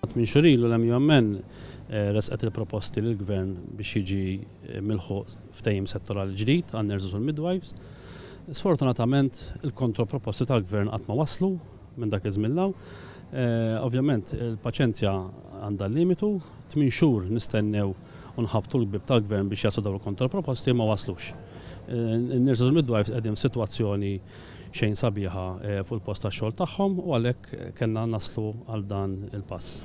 Minn xhur ilu l-MUMN ressqet il-proposti lill-Gvern biex jiġi milħuq ftehim settorali ġdid għan-nurses u l-midwives. Sfortunatament il-kontroproposti tal-Gvern qatt ma waslu minn dak iż-żmien 'l hawn. Ovvjament il-paċenzja għandha limitu, 8 xhur nistennew u nħabtu l-bib tal-Gvern biex jaslu dawn il-kontroproposti, ma waslux. In-nurses u l-midwives qegħdin f'sitwazzjoni xejn sabiħa fuq il-post tax-xogħol tagħhom u għalhekk kellna naslu għal dan il-pass.